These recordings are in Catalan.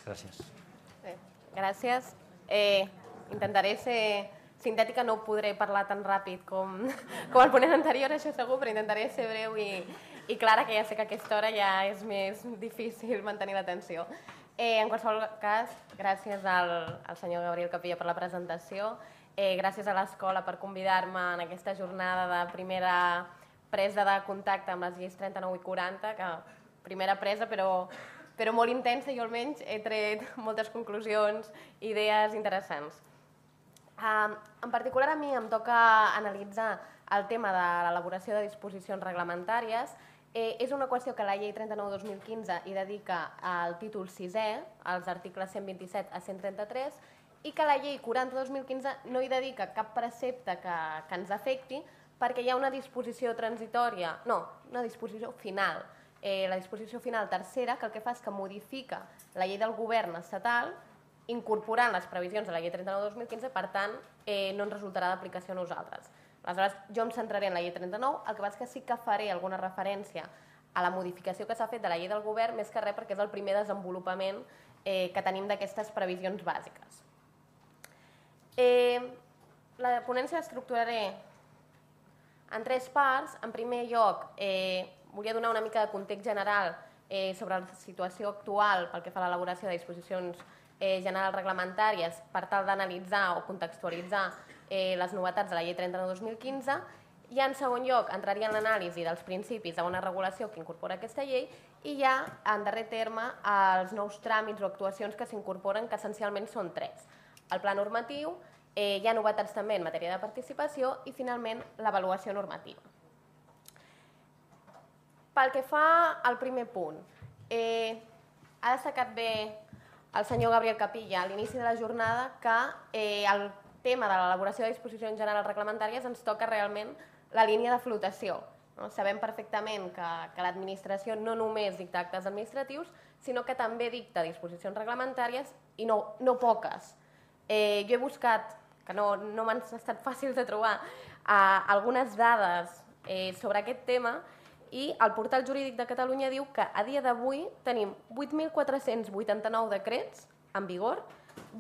Gràcies. Bé, gràcies. Intentaré ser sintètica, no podré parlar tan ràpid com el ponent anterior, això segur, però intentaré ser breu i clara, que ja sé que a aquesta hora ja és més difícil mantenir l'atenció. En qualsevol cas, gràcies al senyor Gabriel Capilla per la presentació, gràcies a l'escola per convidar-me en aquesta jornada de primera presa de contacte amb les lleis 39 i 40, que primera presa però molt intensa, jo almenys he tret moltes conclusions, idees interessants. En particular a mi em toca analitzar el tema de l'elaboració de disposicions reglamentàries. És una qüestió que la llei 39/2015 hi dedica al títol 6è, als articles 127 a 133, i que la llei 40/2015 no hi dedica cap precepte que ens afecti perquè hi ha una disposició transitòria, no, una disposició final, la disposició final tercera, que el que fa és que modifica la llei del govern estatal incorporant les previsions de la llei 39/2015, per tant, no ens resultarà d'aplicació a nosaltres. Aleshores, jo em centraré en la llei 39, el que passa és que sí que faré alguna referència a la modificació que s'ha fet de la llei del govern, més que res perquè és el primer desenvolupament que tenim d'aquestes previsions bàsiques. La ponència l'estructuraré en 3 parts. En primer lloc, volia donar una mica de context general sobre la situació actual pel que fa a l'elaboració de disposicions generals reglamentàries per tal d'analitzar o contextualitzar les novetats de la llei 39/2015 i en segon lloc entraria en l'anàlisi dels principis de bona regulació que incorpora aquesta llei i ja en darrer terme els nous tràmits o actuacions que s'incorporen, que essencialment són 3. El pla normatiu, hi ha novetats també en matèria de participació i finalment l'avaluació normativa. Pel que fa al primer punt, ha destacat bé el senyor Gabriel Capilla a l'inici de la jornada que el tema de l'elaboració de disposicions generals reglamentàries ens toca realment la línia de flotació. Sabem perfectament que l'administració no només dicta actes administratius, sinó que també dicta disposicions reglamentàries i no poques. Jo he buscat, que no m'han estat fàcils de trobar, algunes dades sobre aquest tema i el Portal Jurídic de Catalunya diu que a dia d'avui tenim 8.489 decrets en vigor,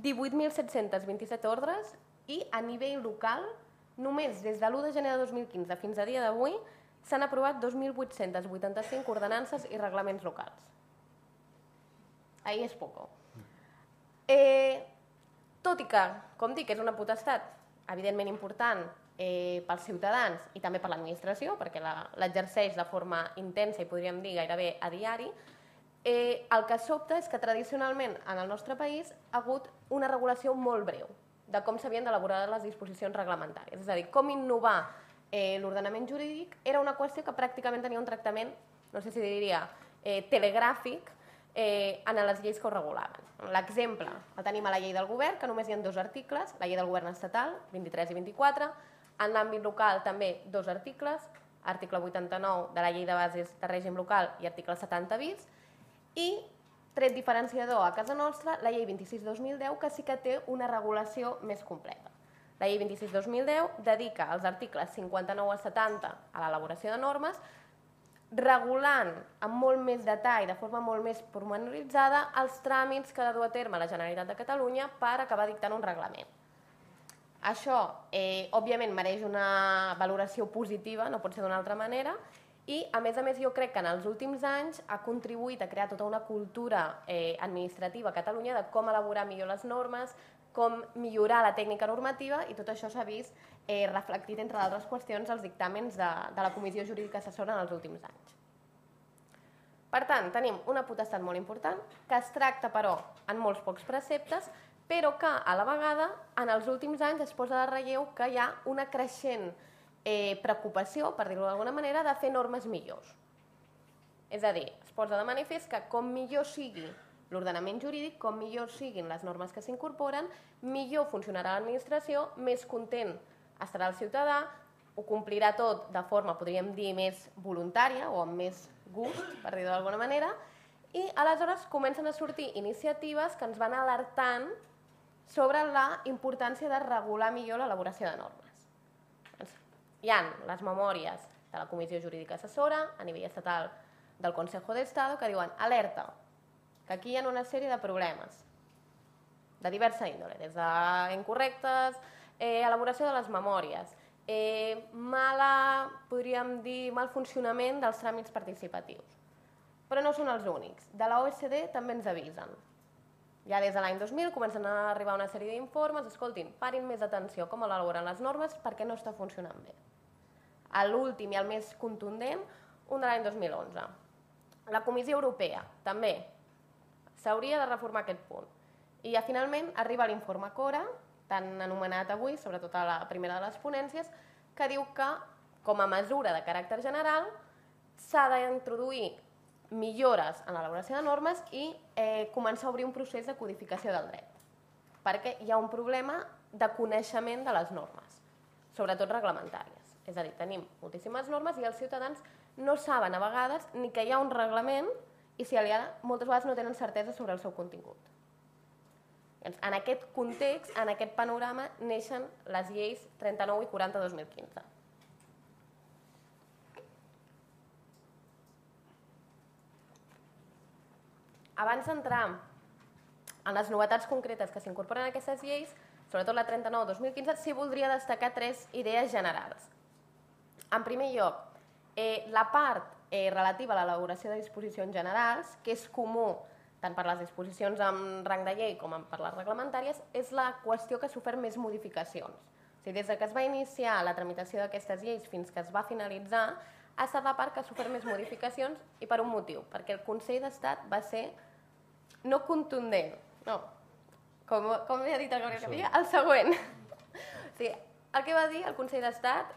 18.727 ordres i a nivell local, només des de l'1 de gener de 2015 fins a dia d'avui, s'han aprovat 2.885 ordenances i reglaments locals. Ahí és poco. Tot i que, com dic, és una potestat evidentment important pels ciutadans i també per l'administració, perquè l'exerceix de forma intensa i podríem dir gairebé a diari, el que sobta és que tradicionalment en el nostre país ha hagut una regulació molt breu de com s'havien d'elaborar les disposicions reglamentàries. És a dir, com innovar l'ordenament jurídic era una qüestió que pràcticament tenia un tractament, no sé si diria, telegràfic en les lleis que ho regulaven. L'exemple el tenim a la llei del govern, que només hi ha 2 articles, la llei del govern estatal, 23 i 24, en l'àmbit local també 2 articles, article 89 de la llei de bases de règim local i article 70 bis, i tret diferenciador a casa nostra, la llei 26/2010, que sí que té una regulació més completa. La llei 26/2010 dedica els articles 59 a 70 a l'elaboració de normes, regulant amb molt més detall, de forma molt més pormenoritzada, els tràmits que ha de dur a terme la Generalitat de Catalunya per acabar dictant un reglament. Això, òbviament, mereix una valoració positiva, no pot ser d'una altra manera, i, a més, jo crec que en els últims anys ha contribuït a crear tota una cultura administrativa a Catalunya de com elaborar millor les normes, com millorar la tècnica normativa, i tot això s'ha vist reflectit, entre d'altres qüestions, als dictàmens de la Comissió Jurídica Assessora en els últims anys. Per tant, tenim una potestat molt important, que es tracta, però, en molts pocs preceptes, però que, a la vegada, en els últims anys es posa de relleu que hi ha una creixent preocupació, per dir-ho d'alguna manera, de fer normes millors. És a dir, es posa de manifest que com millor sigui l'ordenament jurídic, com millor siguin les normes que s'incorporen, millor funcionarà l'administració, més content estarà el ciutadà, ho complirà tot de forma, podríem dir, més voluntària o amb més gust, per dir-ho d'alguna manera, i aleshores comencen a sortir iniciatives que ens van alertant sobre la importància de regular millor l'elaboració de normes. Hi ha les memòries de la Comissió Jurídica Assessora a nivell estatal del Consejo de Estado que diuen alerta, que aquí hi ha una sèrie de problemes de diversa índole, des d'incorrectes, elaboració de les memòries, mal funcionament dels tràmits participatius. Però no són els únics. De la OECD també ens avisen. Ja des de l'any 2000 comencen a arribar una sèrie d'informes, escoltin, parin més atenció com elaboren les normes perquè no està funcionant bé. L'últim i el més contundent, un de l'any 2011. La Comissió Europea, també, s'hauria de reformar aquest punt. I ja finalment arriba l'informe CORA, tan anomenat avui, sobretot a la primera de les ponències, que diu que, com a mesura de caràcter general, s'ha d'introduir millores en l'elaboració de normes i començar a obrir un procés de codificació del dret. Perquè hi ha un problema de coneixement de les normes, sobretot reglamentàries. És a dir, tenim moltíssimes normes i els ciutadans no saben a vegades ni que hi ha un reglament i si moltes vegades no tenen certesa sobre el seu contingut. En aquest context, en aquest panorama, neixen les lleis 39 i 40 de 2015. Abans d'entrar en les novetats concretes que s'incorporen a aquestes lleis, sobretot la 39-2015, sí voldria destacar 3 idees generals. En primer lloc, la part relativa a l'elaboració de disposicions generals, que és comú tant per les disposicions amb rang de llei com per les reglamentàries, és la qüestió que ha sofert més modificacions. O sigui, des que es va iniciar la tramitació d'aquestes lleis fins que es va finalitzar, ha estat la part que ha sofert més modificacions i per un motiu, perquè el Consell d'Estat va ser no contundent, no, com he dit el Gabriel Capella, el següent. O sigui, el que va dir el Consell d'Estat,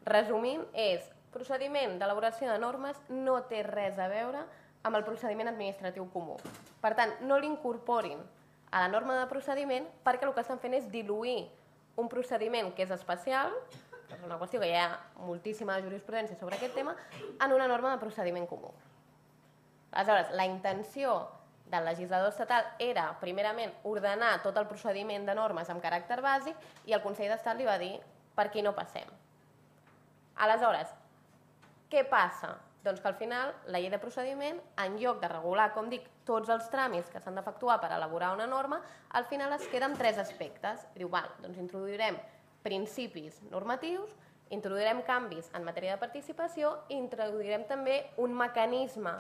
resumint, és procediment d'elaboració de normes no té res a veure amb el procediment administratiu comú. Per tant, no l'incorporin a la norma de procediment perquè el que estan fent és diluir un procediment que és especial, que és una qüestió que hi ha moltíssima jurisprudència sobre aquest tema, en una norma de procediment comú. Aleshores, la intenció del legislador estatal era, primerament, ordenar tot el procediment de normes amb caràcter bàsic i el Consell d'Estat li va dir per aquí no passem. Aleshores, què passa? Doncs que al final la llei de procediment, en lloc de regular, com dic, tots els tràmits que s'han d'efectuar per elaborar una norma, al final es queda amb 3 aspectes. Diu, doncs introduirem principis normatius, introduirem canvis en matèria de participació i introduirem també un mecanisme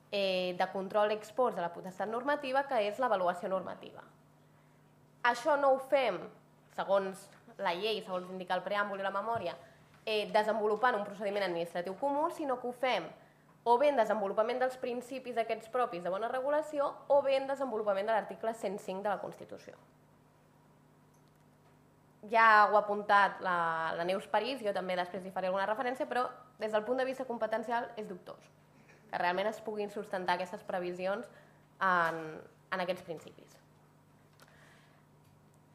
de control ex post de la potestat normativa, que és l'avaluació normativa. Això no ho fem, segons la llei, segons indica el preàmbul i la memòria, desenvolupant un procediment administratiu comú, sinó que ho fem o bé en desenvolupament dels principis aquests propis de bona regulació o bé en desenvolupament de l'article 105 de la Constitució. Ja ho ha apuntat la Neus París, jo també després hi faré alguna referència, però des del punt de vista competencial és dubtós que realment es puguin sustentar aquestes previsions en aquests principis.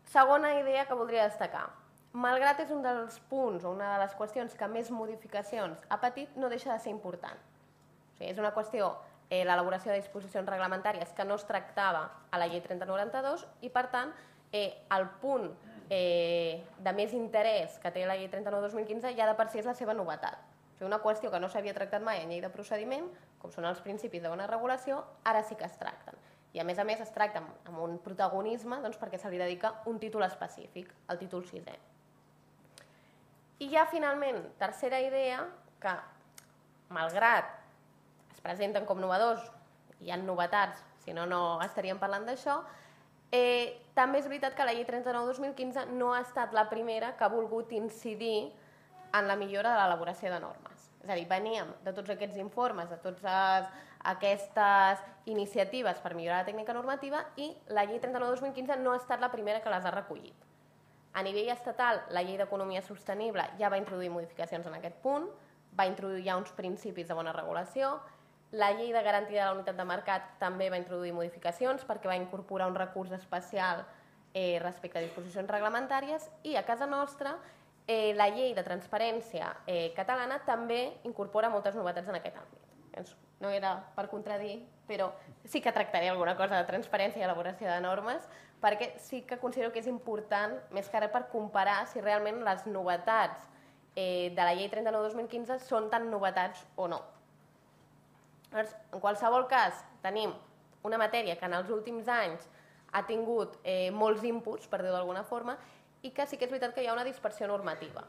Segona idea que voldria destacar. Malgrat és un dels punts o una de les qüestions que més modificacions ha patit, no deixa de ser important. O sigui, és una qüestió, l'elaboració de disposicions reglamentàries que no es tractava a la llei 3092 i, per tant, el punt de més interès que té la llei 39-2015 ja de per si és la seva novetat. O sigui, una qüestió que no s'havia tractat mai en llei de procediment, com són els principis de bona regulació, ara sí que es tracten. I a més es tracten amb un protagonisme perquè se li dedica un títol específic, el títol 6è. I ja finalment, tercera idea, que malgrat es presenten com novedors, hi ha novetats, si no, no estaríem parlant d'això, també és veritat que la llei 39-2015 no ha estat la primera que ha volgut incidir en la millora de l'elaboració de normes. És a dir, veníem de tots aquests informes, de totes aquestes iniciatives per millorar la tècnica normativa i la llei 39-2015 no ha estat la primera que les ha recollit. A nivell estatal, la llei d'economia sostenible ja va introduir modificacions en aquest punt, va introduir ja uns principis de bona regulació, la llei de garantia de la unitat de mercat també va introduir modificacions perquè va incorporar un recurs especial respecte a disposicions reglamentàries i a casa nostra la llei de transparència catalana també incorpora moltes novetats en aquest àmbit. No era per contradir, però sí que tractaré alguna cosa de transparència i elaboració de normes, perquè sí que considero que és important, més que res per comparar si realment les novetats de la llei 39-2015 són tan novetats o no. En qualsevol cas, tenim una matèria que en els últims anys ha tingut molts inputs, per dir-ho d'alguna forma, i que sí que és veritat que hi ha una dispersió normativa.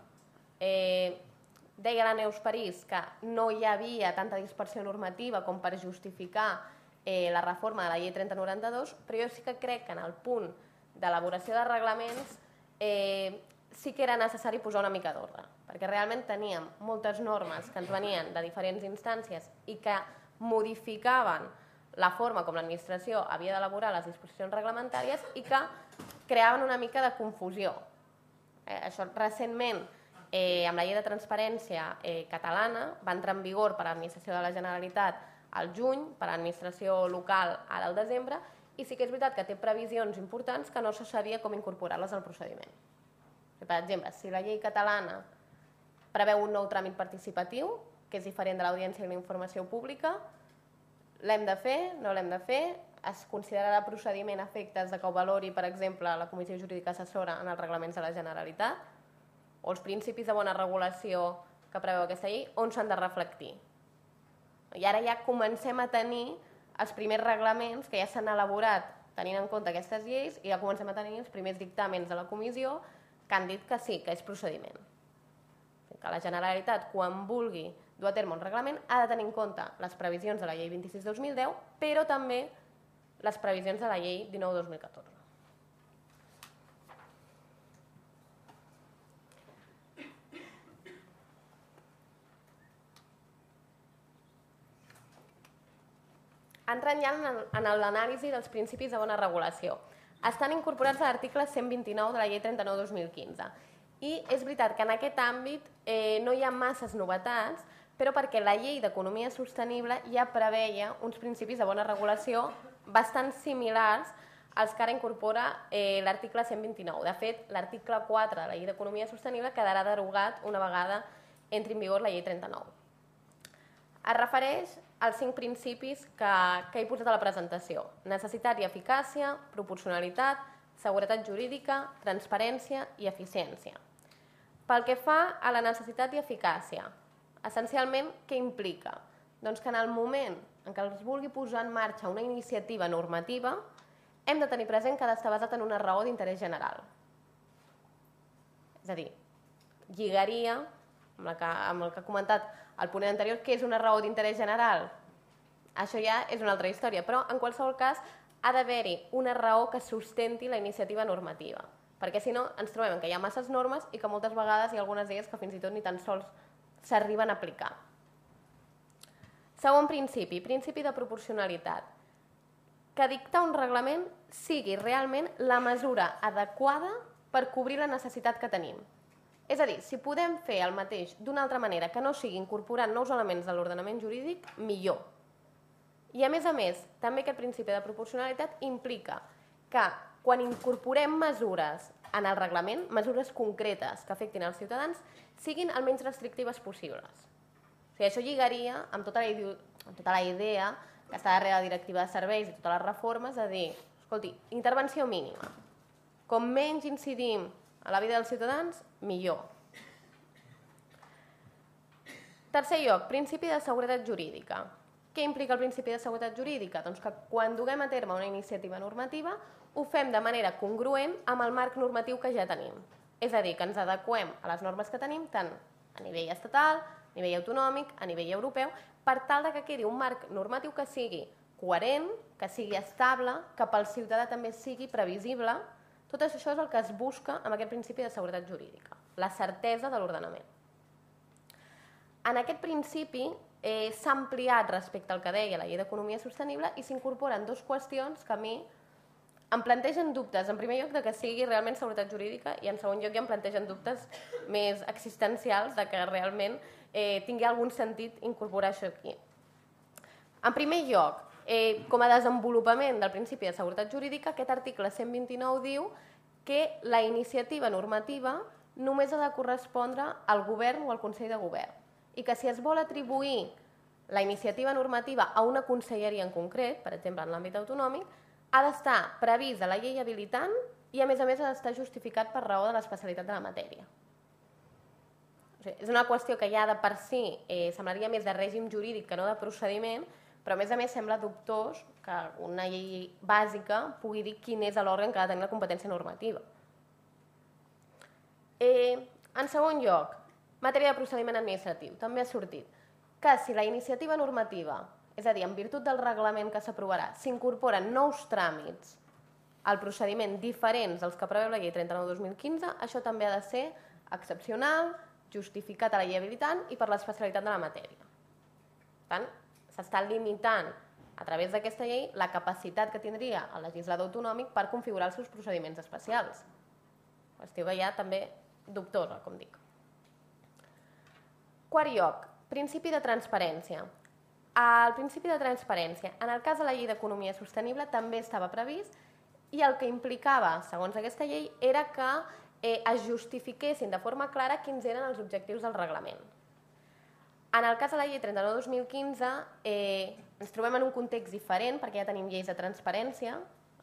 Deia la Neus París que no hi havia tanta dispersió normativa com per justificar la reforma de la llei 3092, però jo sí que crec que en el punt d'elaboració de reglaments sí que era necessari posar una mica d'ordre, perquè realment teníem moltes normes que ens venien de diferents instàncies i que modificaven la forma com l'administració havia d'elaborar les disposicions reglamentàries i que creaven una mica de confusió. Això recentment, amb la llei de transparència catalana, va entrar en vigor per a l'administració de la Generalitat al juny, per a l'administració local ara al desembre, i sí que és veritat que té previsions importants que no se sabia com incorporar-les al procediment. Per exemple, si la llei catalana preveu un nou tràmit participatiu, que és diferent de l'audiència i la informació pública, l'hem de fer, no l'hem de fer, es considerarà procediment a efectes de que ho valori, per exemple, la Comissió Jurídica Assessora en els reglaments de la Generalitat, o els principis de bona regulació que preveu aquesta llei, on s'han de reflectir. I ara ja comencem a tenir els primers reglaments que ja s'han elaborat tenint en compte aquestes lleis i ja comencem a tenir els primers dictàmens de la comissió que han dit que sí, que és procediment. Que la Generalitat, quan vulgui dur a terme un reglament, ha de tenir en compte les previsions de la llei 26/2010, però també les previsions de la llei 19/2014. Entrant ja en l'anàlisi dels principis de bona regulació. Estan incorporats a l'article 129 de la llei 39/2015. I és veritat que en aquest àmbit no hi ha masses novetats, però perquè la llei d'economia sostenible ja preveia uns principis de bona regulació bastant similars als que ara incorpora l'article 129. De fet, l'article 4 de la llei d'economia sostenible quedarà derogat una vegada entri en vigor la llei 39. Es refereix als 5 principis que he posat a la presentació: necessitat i eficàcia, proporcionalitat, seguretat jurídica, transparència i eficiència. Pel que fa a la necessitat i eficàcia, essencialment, què implica? Doncs que en el moment en què es vulgui posar en marxa una iniciativa normativa, hem de tenir present que ha d'estar basat en una raó d'interès general. És a dir, lligaria amb el que ha comentat el ponent anterior, què és una raó d'interès general? Això ja és una altra història, però en qualsevol cas ha d'haver-hi una raó que sustenti la iniciativa normativa, perquè si no ens trobem que hi ha masses normes i que moltes vegades hi ha algunes d'elles que fins i tot ni tan sols s'arriben a aplicar. Segon principi, principi de proporcionalitat. Que dictar un reglament sigui realment la mesura adequada per cobrir la necessitat que tenim. És a dir, si podem fer el mateix d'una altra manera que no sigui incorporant nous elements de l'ordenament jurídic, millor. I a més, també aquest principi de proporcionalitat implica que quan incorporem mesures en el reglament, mesures concretes que afectin els ciutadans, siguin el menys restrictives possibles. O sigui, això lligaria amb tota la idea que està darrere la directiva de serveis i totes les reformes, de dir, escolti, intervenció mínima. Com menys incidim a la vida dels ciutadans, millor. Tercer lloc, principi de seguretat jurídica. Què implica el principi de seguretat jurídica? Doncs que quan duguem a terme una iniciativa normativa ho fem de manera congruent amb el marc normatiu que ja tenim. És a dir, que ens adequem a les normes que tenim tant a nivell estatal, a nivell autonòmic, a nivell europeu, per tal que quedi un marc normatiu que sigui coherent, que sigui estable, que pel ciutadà també sigui previsible. Tot això és el que es busca amb aquest principi de seguretat jurídica, la certesa de l'ordenament. En aquest principi s'ha ampliat respecte al que deia la llei d'economia sostenible i s'incorporen dues qüestions que a mi em plantegen dubtes. En primer lloc, de que sigui realment seguretat jurídica i en segon lloc ja em plantegen dubtes més existencials de que realment tingui algun sentit incorporar això aquí. En primer lloc, com a desenvolupament del principi de seguretat jurídica, aquest article 129 diu que la iniciativa normativa només ha de correspondre al govern o al Consell de Govern i que si es vol atribuir la iniciativa normativa a una conselleria en concret, per exemple en l'àmbit autonòmic, ha d'estar previst a la llei habilitant i a més ha d'estar justificat per raó de l'especialitat de la matèria. És una qüestió que ja de per si semblaria més de règim jurídic que no de procediment, però a més sembla dubtós que una llei bàsica pugui dir quin és l'òrgan que ha de tenir la competència normativa. En segon lloc, matèria de procediment administratiu. També ha sortit que si la iniciativa normativa, és a dir, en virtut del reglament que s'aprovarà, s'incorporen nous tràmits al procediment diferents dels que preveu la llei 39/2015, això també ha de ser excepcional, justificat a la llei habilitant i per l'especialitat de la matèria. Per tant, s'està limitant a través d'aquesta llei la capacitat que tindria el legislador autonòmic per configurar els seus procediments especials. Qüestió que ja també dubtosa, com dic. Quart lloc, principi de transparència. El principi de transparència, en el cas de la llei d'economia sostenible, també estava previst i el que implicava, segons aquesta llei, era que es justifiquessin de forma clara quins eren els objectius del reglament. En el cas de la llei 39/2015 ens trobem en un context diferent perquè ja tenim lleis de transparència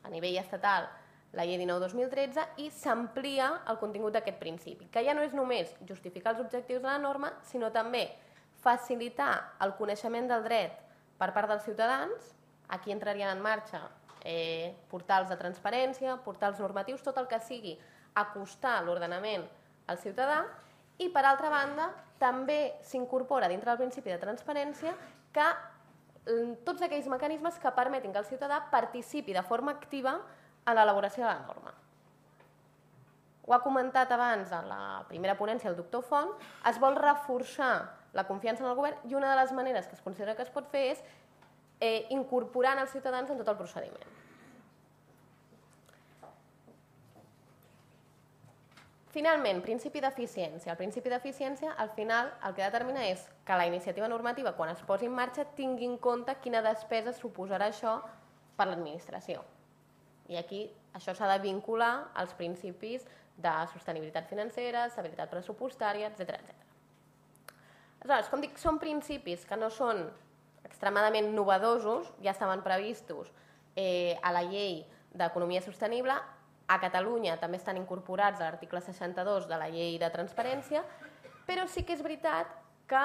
a nivell estatal, la llei 19/2013, i s'amplia el contingut d'aquest principi, que ja no és només justificar els objectius de la norma, sinó també facilitar el coneixement del dret per part dels ciutadans. Aquí entrarien en marxa portals de transparència, portals normatius, tot el que sigui acostar l'ordenament al ciutadà, i per altra banda també s'incorpora dintre del principi de transparència que tots aquells mecanismes que permetin que el ciutadà participi de forma activa en l'elaboració de la norma. Ho ha comentat abans a la primera ponència el doctor Font, es vol reforçar la confiança en el govern i una de les maneres que es considera que es pot fer és incorporant els ciutadans en tot el procediment. Finalment, principi d'eficiència. El principi d'eficiència, al final, el que determina és que la iniciativa normativa, quan es posi en marxa, tingui en compte quina despesa suposarà això per l'administració. I aquí això s'ha de vincular als principis de sostenibilitat financera, estabilitat pressupostària, etc. Aleshores, com dic, són principis que no són extremadament novedosos, ja estaven previstos a la llei d'economia sostenible. A Catalunya també estan incorporats a l'article 62 de la llei de transparència, però sí que és veritat que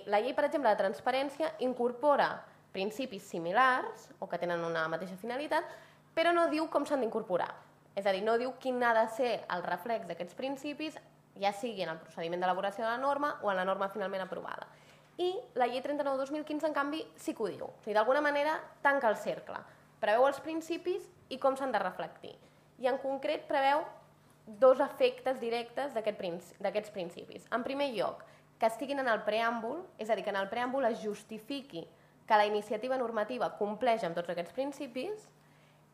la llei, per exemple, de transparència incorpora principis similars o que tenen una mateixa finalitat, però no diu com s'han d'incorporar. És a dir, no diu quin ha de ser el reflex d'aquests principis, ja sigui en el procediment d'elaboració de la norma o en la norma finalment aprovada. I la llei 39/2015, en canvi, sí que ho diu. O sigui, d'alguna manera tanca el cercle, preveu els principis i com s'han de reflectir. I en concret preveu dos efectes directes d'aquests principis. En primer lloc, que estiguin en el preàmbul, és a dir, que en el preàmbul es justifiqui que la iniciativa normativa compleix amb tots aquests principis,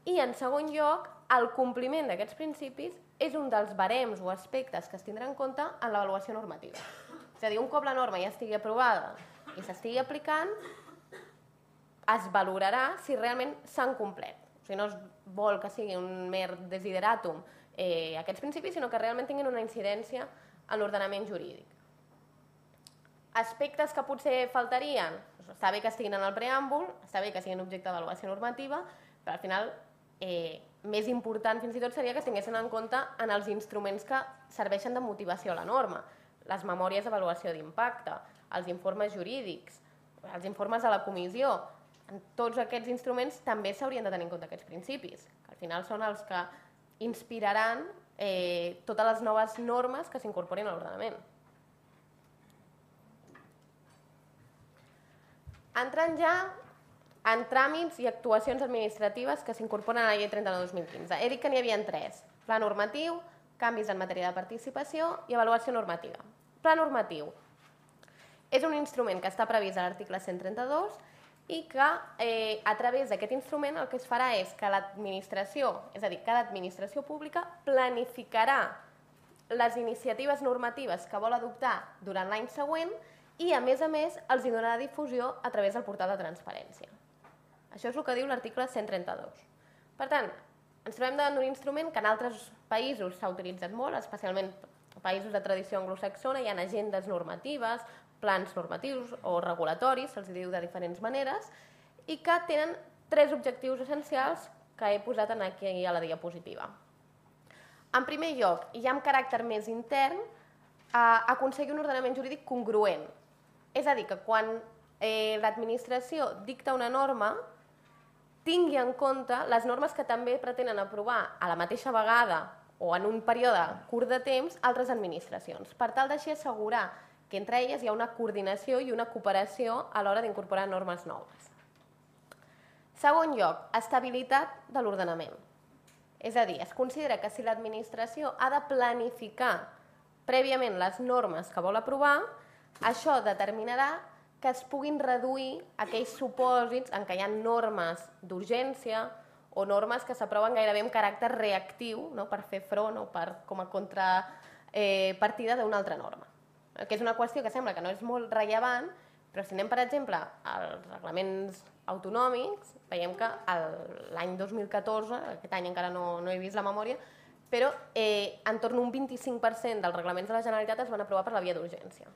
i en segon lloc, el compliment d'aquests principis és un dels barems o aspectes que es tindrà en compte en l'avaluació normativa. És a dir, un cop la norma ja estigui aprovada i s'estigui aplicant, es valorarà si realment s'han complert. O sigui, no es vol que sigui un mer desideratum aquests principis, sinó que realment tinguin una incidència en l'ordenament jurídic. Aspectes que potser faltarien, està bé que estiguin en el preàmbul, està bé que siguin objecte d'avaluació normativa, però al final més important fins i tot seria que es tinguessin en compte en els instruments que serveixen de motivació a la norma, les memòries d'avaluació d'impacte, els informes jurídics, els informes de la comissió. En tots aquests instruments també s'haurien de tenir en compte aquests principis, que al final són els que inspiraran totes les noves normes que s'incorporin a l'ordenament. Entrant ja en tràmits i actuacions administratives que s'incorporen a la llei 39/2015. He dit que n'hi havia tres: pla normatiu, canvis en matèria de participació i avaluació normativa. Pla normatiu és un instrument que està previst a l'article 132 i que a través d'aquest instrument el que es farà és que l'administració, és a dir, cada administració pública planificarà les iniciatives normatives que vol adoptar durant l'any següent i, a més, els hi donarà difusió a través del portal de transparència. Això és el que diu l'article 132. Per tant, ens trobem davant d'un instrument que en altres països s'ha utilitzat molt, especialment en països de tradició anglosaxona. Hi ha agendes normatives, plans normatius o regulatoris, se'ls diu de diferents maneres, i que tenen tres objectius essencials que he posat aquí a la diapositiva. En primer lloc, i ja amb caràcter més intern, aconseguir un ordenament jurídic congruent. És a dir, que quan l'administració dicta una norma, tingui en compte les normes que també pretenen aprovar a la mateixa vegada o en un període curt de temps altres administracions, per tal d'així assegurar que entre elles hi ha una coordinació i una cooperació a l'hora d'incorporar normes noves. Segon lloc, estabilitat de l'ordenament. És a dir, es considera que si l'administració ha de planificar prèviament les normes que vol aprovar, això determinarà que es puguin reduir aquells supòsits en què hi ha normes d'urgència o normes que s'aproven gairebé amb caràcter reactiu, per fer front o com a contrapartida d'una altra norma. Que és una qüestió que sembla que no és molt rellevant, però si anem, per exemple, als reglaments autonòmics, veiem que l'any 2014, aquest any encara no he vist la memòria, però entorn d'un 25% dels reglaments de la Generalitat es van aprovar per la via d'urgència.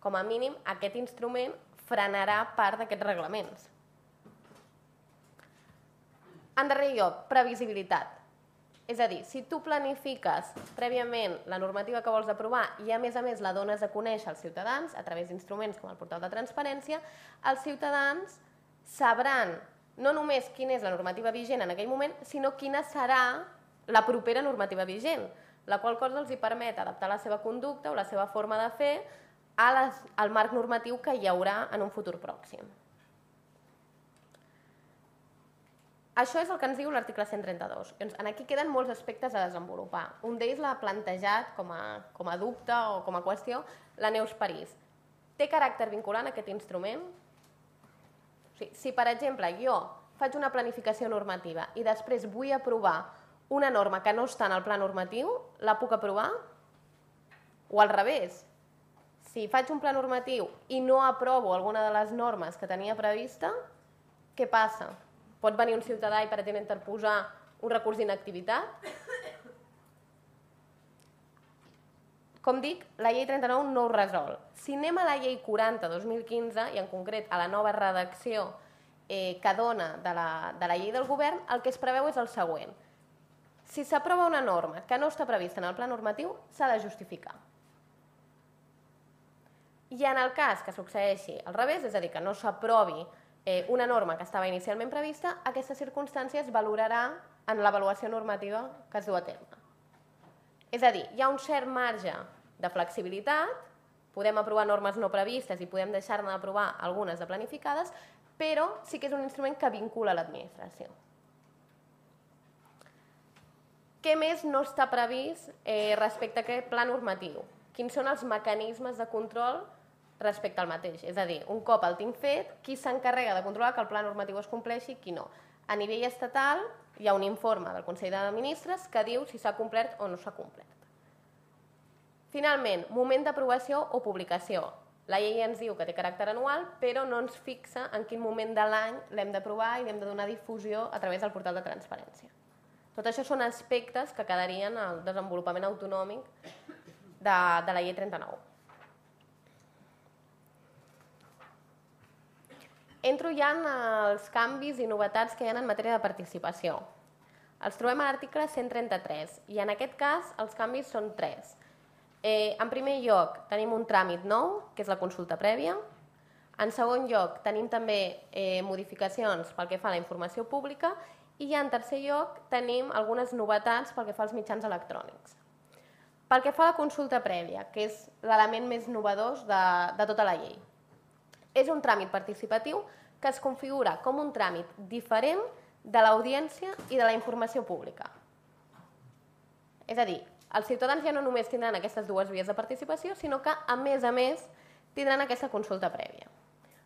Com a mínim, aquest instrument frenarà part d'aquests reglaments. En darrer lloc, previsibilitat. És a dir, si tu planifiques prèviament la normativa que vols aprovar i a més la dones a conèixer als ciutadans a través d'instruments com el portal de transparència, els ciutadans sabran no només quina és la normativa vigent en aquell moment, sinó quina serà la propera normativa vigent, la qual cosa els permet adaptar la seva conducta o la seva forma de fer al marc normatiu que hi haurà en un futur pròxim. Això és el que ens diu l'article 132. Aquí queden molts aspectes a desenvolupar. Un d'ells l'ha plantejat com a dubte o com a qüestió la Neus París. Té caràcter vinculant aquest instrument? Si, per exemple, jo faig una planificació normativa i després vull aprovar una norma que no està en el pla normatiu, la puc aprovar? O al revés, si faig un pla normatiu i no aprovo alguna de les normes que tenia prevista, què passa? Pot venir un ciutadà i pretendre interposar un recurs d'inactivitat? Com dic, la llei 39 no ho resol. Si anem a la llei 40/2015, i en concret a la nova redacció que dona de la llei del govern, el que es preveu és el següent. Si s'aprova una norma que no està prevista en el pla normatiu, s'ha de justificar. I en el cas que succeeixi al revés, és a dir, que no s'aprovi una norma que estava inicialment prevista, aquesta circumstància es valorarà en l'avaluació normativa que es du a terme. És a dir, hi ha un cert marge de flexibilitat, podem aprovar normes no previstes i podem deixar-ne d'aprovar algunes de planificades, però sí que és un instrument que vincula l'administració. Què més no està previst respecte a aquest pla normatiu? Quins són els mecanismes de control respecte al mateix? És a dir, un cop el tinc fet, qui s'encarrega de controlar que el pla normatiu es compleixi i qui no? A nivell estatal hi ha un informe del Consell de Ministres que diu si s'ha complert o no s'ha complert. Finalment, moment d'aprovació o publicació. La llei ens diu que té caràcter anual, però no ens fixa en quin moment de l'any l'hem d'aprovar i l'hem de donar difusió a través del portal de transparència. Tot això són aspectes que quedarien al desenvolupament autonòmic de la llei 39. Entro ja en els canvis i novetats que hi ha en matèria de participació. Els trobem a l'article 133 i en aquest cas els canvis són 3. En primer lloc tenim un tràmit nou, que és la consulta prèvia. En segon lloc tenim també modificacions pel que fa a la informació pública i en tercer lloc tenim algunes novetats pel que fa als mitjans electrònics. Pel que fa a la consulta prèvia, que és l'element més innovador de tota la llei. És un tràmit participatiu que es configura com un tràmit diferent de l'audiència i de la informació pública. És a dir, els ciutadans ja no només tindran aquestes dues vies de participació, sinó que, a més, tindran aquesta consulta prèvia.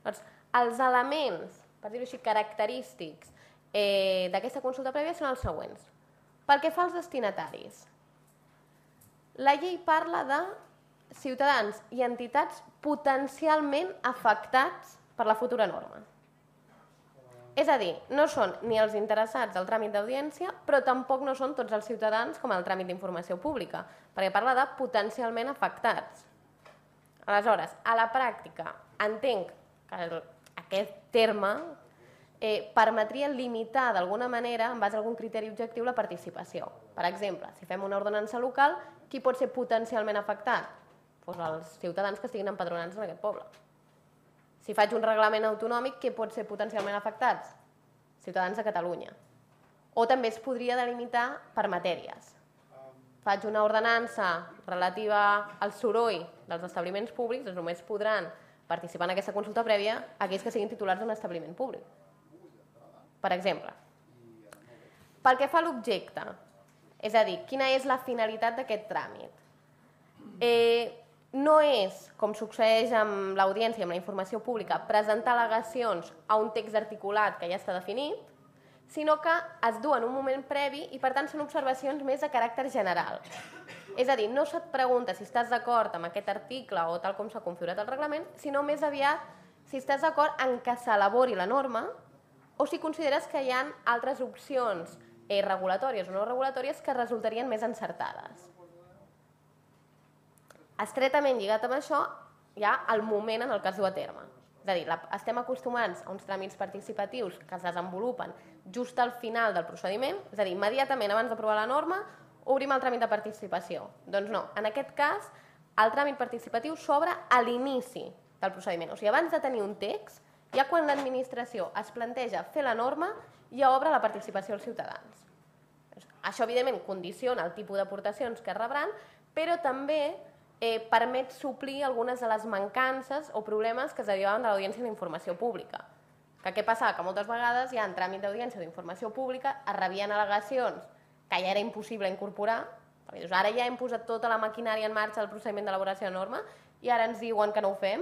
Doncs, els elements, per dir-ho així, característics d'aquesta consulta prèvia són els següents. Pel que fa als destinataris, la llei parla de ciutadans i entitats potencialment afectats per la futura norma. És a dir, no són ni els interessats del tràmit d'audiència, però tampoc no són tots els ciutadans com el tràmit d'informació pública, perquè parla de potencialment afectats. Aleshores, a la pràctica, entenc que aquest terme permetria limitar d'alguna manera, en base a algun criteri objectiu, la participació. Per exemple, si fem una ordenança local, qui pot ser potencialment afectat? Doncs els ciutadans que estiguin empadronats en aquest poble. Si faig un reglament autonòmic, què pot ser potencialment afectats? Ciutadans de Catalunya. O també es podria delimitar per matèries. Faig una ordenança relativa al soroll dels establiments públics, doncs només podran participar en aquesta consulta prèvia aquells que siguin titulars d'un establiment públic. Per exemple. Pel que fa a l'objecte, és a dir, quina és la finalitat d'aquest tràmit? No és, com succeeix amb l'audiència i amb la informació pública, presentar al·legacions a un text articulat que ja està definit, sinó que es du en un moment previ i, per tant, són observacions més de caràcter general. És a dir, no se't pregunta si estàs d'acord amb aquest article o tal com s'ha configurat el reglament, sinó més aviat si estàs d'acord en que s'elabori la norma o si consideres que hi ha altres opcions regulatòries o no regulatòries que resultarien més encertades. Estretament lligat amb això hi ha el moment en el que es du a terme. És a dir, estem acostumats a uns tràmits participatius que es desenvolupen just al final del procediment, és a dir, immediatament abans d'aprovar la norma, obrim el tràmit de participació. Doncs no, en aquest cas, el tràmit participatiu s'obre a l'inici del procediment. O sigui, abans de tenir un text, ja quan l'administració es planteja fer la norma, ja obre la participació als ciutadans. Això, evidentment, condiciona el tipus d'aportacions que rebran, però també permet suplir algunes de les mancances o problemes que es derivaven de l'audiència d'informació pública. Què passava? Que moltes vegades ja en tràmit d'audiència d'informació pública es rebien al·legacions que ja era impossible incorporar, perquè dius, ara ja hem posat tota la maquinària en marxa del procediment d'elaboració de norma i ara ens diuen que no ho fem,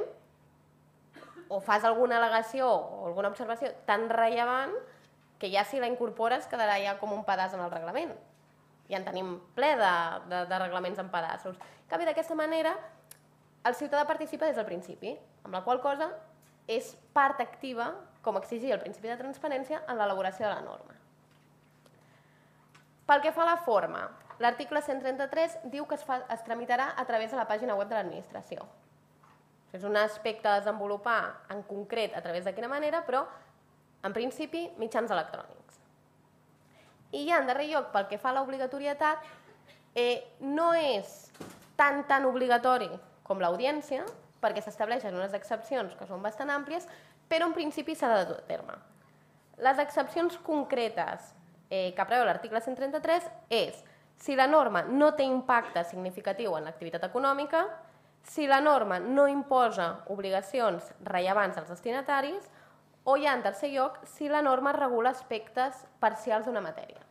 o fas alguna al·legació o alguna observació tan rellevant que ja si la incorpores quedarà ja com un pedaç en el reglament. Ja en tenim ple de reglaments en pedaços. En canvi, d'aquesta manera, el ciutadà participa des del principi, amb la qual cosa és part activa, com exigia el principi de transparència, en l'elaboració de la norma. Pel que fa a la forma, l'article 133 diu que es tramitarà a través de la pàgina web de l'administració. És un aspecte a desenvolupar en concret a través de quina manera, però en principi mitjans electrònics. I ja en darrer lloc, pel que fa a l'obligatorietat, no és tan obligatori com l'audiència, perquè s'estableixen unes excepcions que són bastant àmplies, però en principi s'ha de dur a terme. Les excepcions concretes que preveu l'article 133 és si la norma no té impacte significatiu en l'activitat econòmica, si la norma no imposa obligacions rellevants als destinataris, o ja en tercer lloc, si la norma regula aspectes parcials d'una matèria.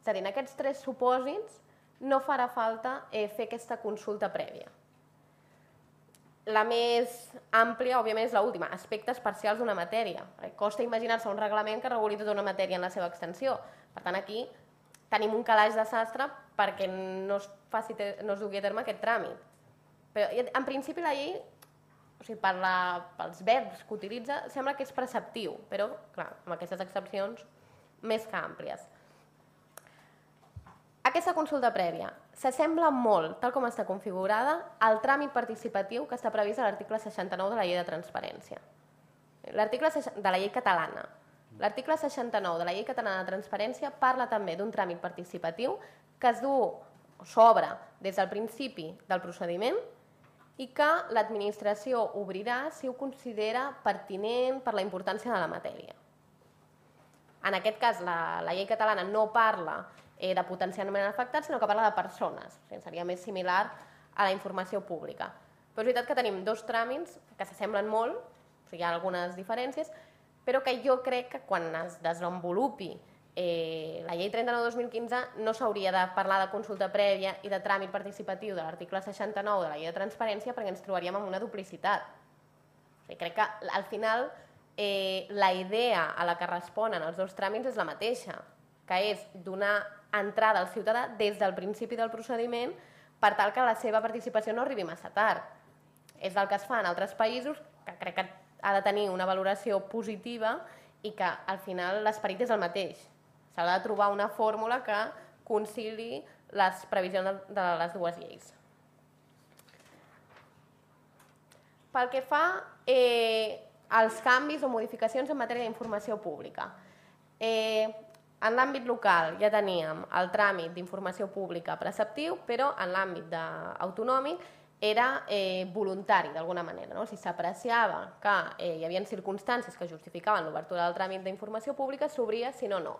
És a dir, en aquests tres supòsits no farà falta fer aquesta consulta prèvia. La més àmplia, òbviament, és l'última, aspectes parcials d'una matèria. Costa imaginar-se un reglament que reguli tota una matèria en la seva extensió. Per tant, aquí tenim un calaix de sastre perquè no es dugui a terme aquest tràmit. Però, en principi, la llei, pels verbs que utilitza, sembla que és preceptiu, però, clar, amb aquestes excepcions més que àmplies. Aquesta consulta prèvia s'assembla molt, tal com està configurada, al tràmit participatiu que està previst a l'article 69 de la llei de transparència. L'article de la llei catalana. L'article 69 de la llei catalana de transparència parla també d'un tràmit participatiu que es du o s'obre des del principi del procediment i que l'administració obrirà si ho considera pertinent per la importància de la matèria. En aquest cas, la llei catalana no parla de potencialment afectats, sinó que parla de persones. Seria més similar a la informació pública. Però és veritat que tenim dos tràmits que s'assemblen molt, hi ha algunes diferències, però que jo crec que quan es desenvolupi la llei 39/2015 no s'hauria de parlar de consulta prèvia i de tràmit participatiu de l'article 69 de la llei de transparència perquè ens trobaríem amb una duplicitat. Crec que al final la idea a la que responen els dos tràmits és la mateixa, que és donar entrada al ciutadà des del principi del procediment per tal que la seva participació no arribi massa tard. És el que es fa en altres països, que crec que ha de tenir una valoració positiva i que al final l'esperit és el mateix. S'ha de trobar una fórmula que concili les previsions de les dues lleis. Pel que fa als canvis o modificacions en matèria d'informació pública, en l'àmbit local ja teníem el tràmit d'informació pública preceptiu, però en l'àmbit autonòmic era voluntari, d'alguna manera. Si s'apreciava que hi havia circumstàncies que justificaven l'obertura del tràmit d'informació pública, s'obria, si no, no.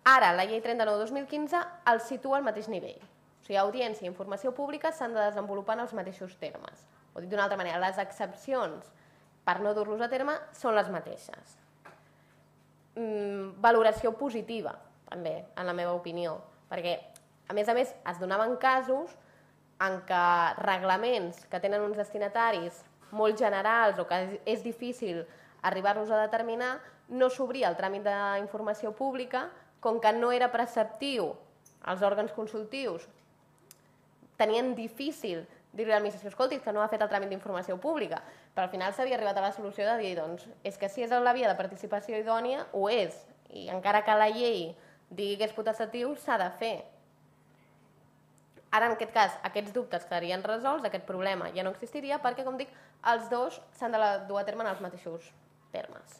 Ara, la llei 39/2015 el situa al mateix nivell. O sigui, audiència i informació pública s'han de desenvolupar en els mateixos termes. O dit d'una altra manera, les excepcions per no dur-los a terme són les mateixes. Valoració positiva, també, en la meva opinió, perquè, a més, es donaven casos en què reglaments que tenen uns destinataris molt generals o que és difícil arribar-los a determinar, no s'obria el tràmit d'informació pública, com que no era preceptiu als òrgans consultius, tenien difícil dir-li a l'administració, escolti, que no ha fet el tràmit d'informació pública, però al final s'havia arribat a la solució de dir, doncs, és que si és la via de participació idònia, ho és, i encara que la llei digui que és potestatiu, s'ha de fer. Ara, en aquest cas, aquests dubtes quedarien resolts, aquest problema ja no existiria, perquè, com dic, els dos s'han de dur a terme en els mateixos termes.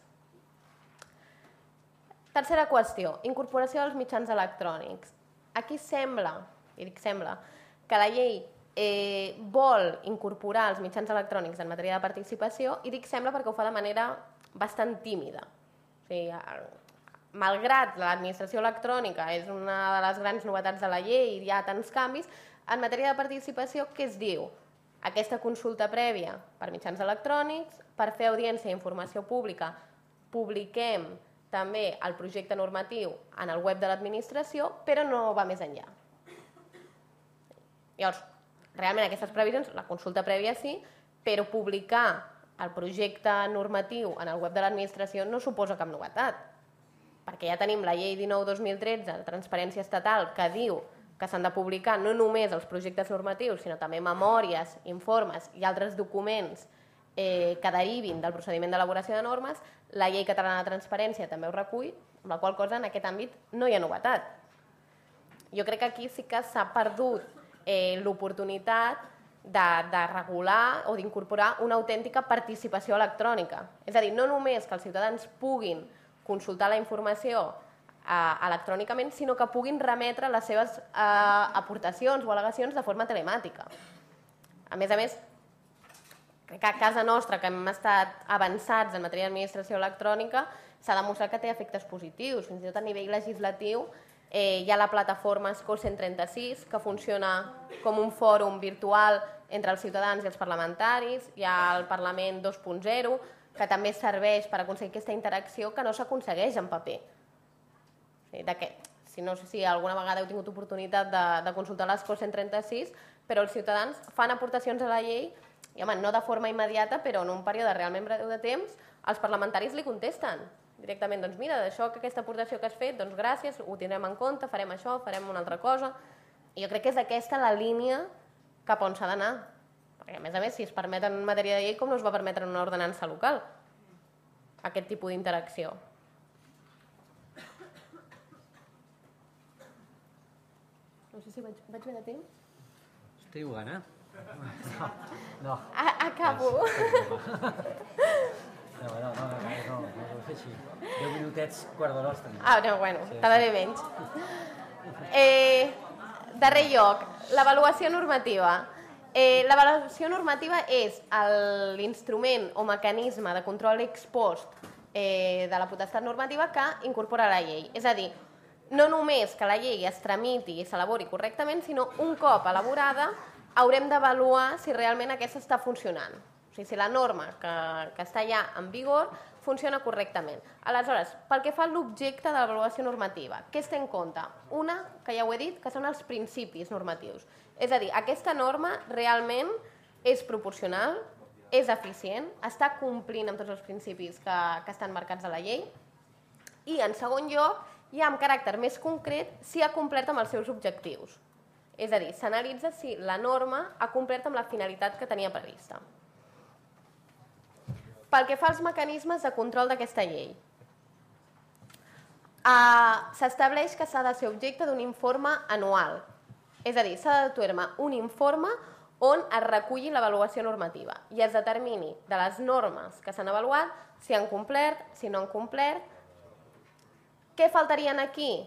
Tercera qüestió, incorporació dels mitjans electrònics. Aquí sembla, i dic sembla, que la llei vol incorporar els mitjans electrònics en matèria de participació, i dic sembla perquè ho fa de manera bastant tímida. O sigui, malgrat l'administració electrònica és una de les grans novetats de la llei i hi ha tants canvis, en matèria de participació, què es diu? Aquesta consulta prèvia per mitjans electrònics, per fer audiència i informació pública, publiquem també el projecte normatiu en el web de l'administració, però no va més enllà. Llavors, realment aquestes previsions, la consulta prèvia sí, però publicar el projecte normatiu en el web de l'administració no suposa cap novetat, perquè ja tenim la llei 19/2013 de transparència estatal que diu que s'han de publicar no només els projectes normatius, sinó també memòries, informes i altres documents que derivin del procediment d'elaboració de normes. La llei catalana de transparència també ho recull, amb la qual cosa en aquest àmbit no hi ha novetat. Jo crec que aquí sí que s'ha perdut l'oportunitat de regular o d'incorporar una autèntica participació electrònica. És a dir, no només que els ciutadans puguin consultar la informació electrònicament, sinó que puguin remetre les seves aportacions o al·legacions de forma telemàtica. A més, crec que a casa nostra, que hem estat avançats en matèria d'administració electrònica, s'ha demostrat que té efectes positius. Fins i tot a nivell legislatiu hi ha la plataforma ESCO 136, que funciona com un fòrum virtual entre els ciutadans i els parlamentaris. Hi ha el Parlament 2.0, que també serveix per aconseguir aquesta interacció que no s'aconsegueix en paper. No sé si alguna vegada heu tingut oportunitat de consultar l'ESCO 136, però els ciutadans fan aportacions a la llei, i home, no de forma immediata, però en un període realment breu de temps, els parlamentaris li contesten directament, doncs mira, d'això, aquesta aportació que has fet, doncs gràcies, ho tindrem en compte, farem això, farem una altra cosa. I jo crec que és aquesta la línia cap on s'ha d'anar. Perquè, a més, si es permet en matèria de llei, com no es va permetre en una ordenança local aquest tipus d'interacció? No sé si vaig bé de temps. Estic jugant, No. Acabo. No, ho fer així. 10 minutets, quart d'hora els tenim. No, bueno, tardaré menys. Darrer lloc, l'avaluació normativa. L'avaluació normativa és l'instrument o mecanisme de control ex post de la potestat normativa que incorpora la llei. És a dir, no només que la llei es tramiti i s'elabori correctament, sinó un cop elaborada haurem d'avaluar si realment aquesta està funcionant. O sigui, si la norma que està ja en vigor funciona correctament. Aleshores, pel que fa a l'objecte de l'avaluació normativa, què es té en compte? Una, que ja ho he dit, que són els principis normatius. És a dir, aquesta norma realment és proporcional, és eficient, està complint amb tots els principis que estan marcats a la llei i, en segon lloc, ja amb caràcter més concret, si ha complert amb els seus objectius. És a dir, s'analitza si la norma ha complert amb la finalitat que tenia prevista. Pel que fa als mecanismes de control d'aquesta llei, s'estableix que s'ha de ser objecte d'un informe anual. És a dir, s'ha de dur un informe on es reculli l'avaluació normativa i es determini de les normes que s'han avaluat si han complert, si no han complert. Què faltarien aquí?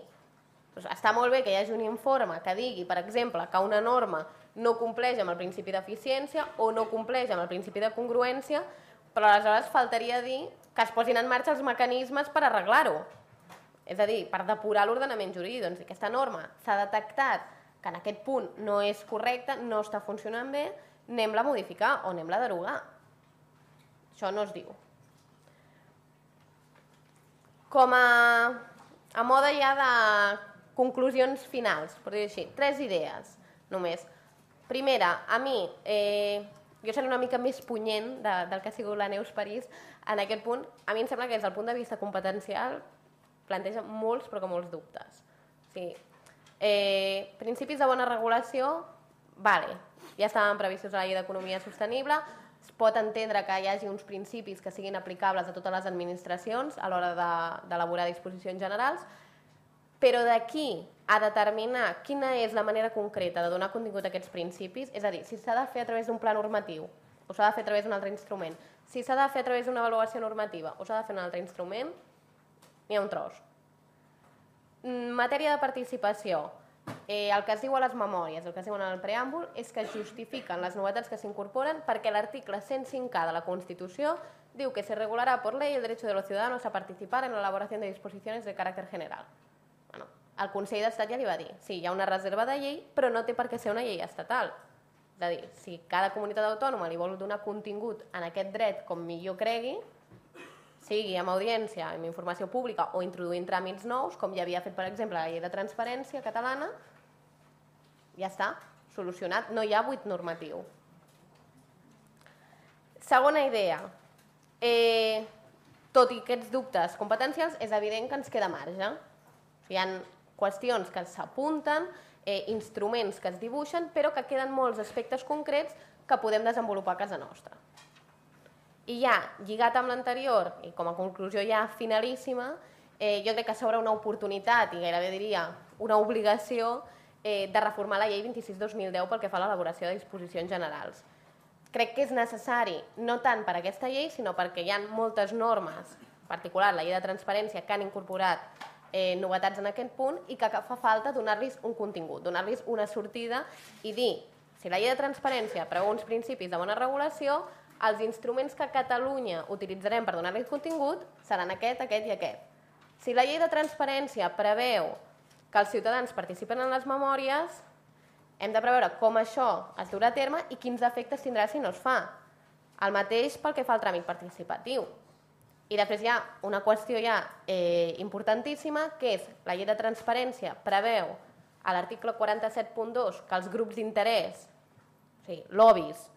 Doncs està molt bé que hi hagi un informe que digui, per exemple, que una norma no compleix amb el principi d'eficiència o no compleix amb el principi de congruència, però aleshores faltaria dir que es posin en marxa els mecanismes per arreglar-ho. És a dir, per depurar l'ordenament jurídic. Doncs si aquesta norma s'ha detectat que en aquest punt no és correcta, no està funcionant bé, anem-la a modificar o anem-la a derogar. Això no es diu. Com a mode ja de conclusions finals, per dir-ho així, 3 idees només. Primera, a mi, jo seré una mica més punyent del que ha sigut la Neus París en aquest punt. A mi em sembla que des del punt de vista competencial planteja molts, però que molts dubtes. Principis de bona regulació, vale, ja estaven previstos a la llei d'economia sostenible, es pot entendre que hi hagi uns principis que siguin aplicables a totes les administracions a l'hora d'elaborar disposicions generals, però d'aquí a determinar quina és la manera concreta de donar contingut a aquests principis, és a dir, si s'ha de fer a través d'un pla normatiu o s'ha de fer a través d'un altre instrument, si s'ha de fer a través d'una avaluació normativa o s'ha de fer un altre instrument, n'hi ha un tros. Matèria de participació, el que es diu a les memòries, el que es diu en el preàmbul, és que es justifiquen les novetats que s'incorporen perquè l'article 105K de la Constitució diu que se regulará por ley el derecho de los ciudadanos a participar en la elaboración de disposiciones de caràcter general. El Consell d'Estat ja li va dir, sí, hi ha una reserva de llei, però no té per què ser una llei estatal. És a dir, si cada comunitat autònoma li vol donar contingut en aquest dret com millor cregui, sigui amb audiència, amb informació pública o introduint tràmits nous, com ja havia fet, per exemple, la llei de transparència catalana, ja està, solucionat, no hi ha buit normatiu. Segona idea, tot i aquests dubtes competencials, és evident que ens queda marge. Hi ha qüestions que s'apunten, instruments que es dibuixen, però que queden molts aspectes concrets que podem desenvolupar a casa nostra. I ja, lligat amb l'anterior, i com a conclusió ja finalíssima, jo crec que s'obre una oportunitat, i gairebé diria una obligació, de reformar la llei 26/2010 pel que fa a l'elaboració de disposicions generals. Crec que és necessari, no tant per aquesta llei, sinó perquè hi ha moltes normes, en particular la llei de transparència, que han incorporat novetats en aquest punt i que fa falta donar-los un contingut, donar-los una sortida i dir, si la llei de transparència preveu uns principis de bona regulació, els instruments que a Catalunya utilitzarem per donar-los contingut seran aquest, aquest i aquest. Si la llei de transparència preveu que els ciutadans participen en les memòries, hem de preveure com això es durà a terme i quins efectes tindrà si no es fa. El mateix pel que fa al tràmit participatiu. I després hi ha una qüestió ja importantíssima, que és la llei de transparència preveu a l'article 47.2 que els grups d'interès, o sigui, lobbies,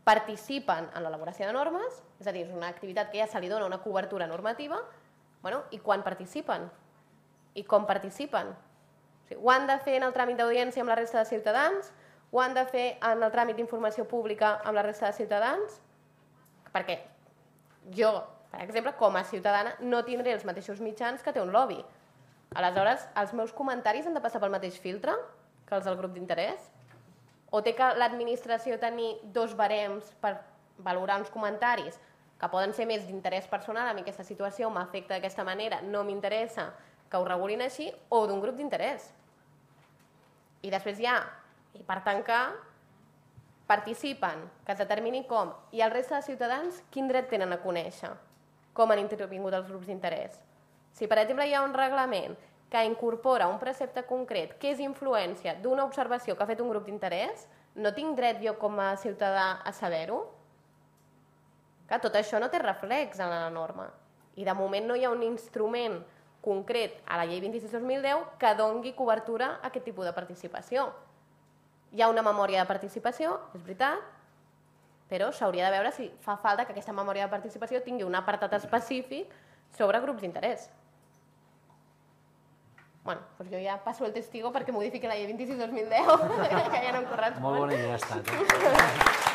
participen en l'elaboració de normes, és a dir, és una activitat que ja se li dona una cobertura normativa, i quan participen? I com participen? Ho han de fer en el tràmit d'audiència amb la resta de ciutadans? Ho han de fer en el tràmit d'informació pública amb la resta de ciutadans? Perquè jo, per exemple, com a ciutadana, no tindré els mateixos mitjans que té un lobby. Aleshores, els meus comentaris han de passar pel mateix filtre que els del grup d'interès? O té que l'administració tenir 2 barems per valorar uns comentaris que poden ser més d'interès personal, a mi aquesta situació m'afecta d'aquesta manera, no m'interessa que ho regulin així, o d'un grup d'interès? I després hi ha, i per tancar, participen, que es determini com, i el resta de ciutadans quin dret tenen a conèixer com han intervingut els grups d'interès. Si, per exemple, hi ha un reglament que incorpora un precepte concret que és influència d'una observació que ha fet un grup d'interès, no tinc dret jo com a ciutadà a saber-ho? Tot això no té reflex en la norma. I de moment no hi ha un instrument concret a la llei 26/2010 que doni cobertura a aquest tipus de participació. Hi ha una memòria de participació, és veritat, però s'hauria de veure si fa falta que aquesta memòria de participació tingui un apartat específic sobre grups d'interès. Bueno, doncs jo ja passo el testigo perquè modifiqui la llei 26/2010, que ja no em correspon. Molt bona idea ha estat.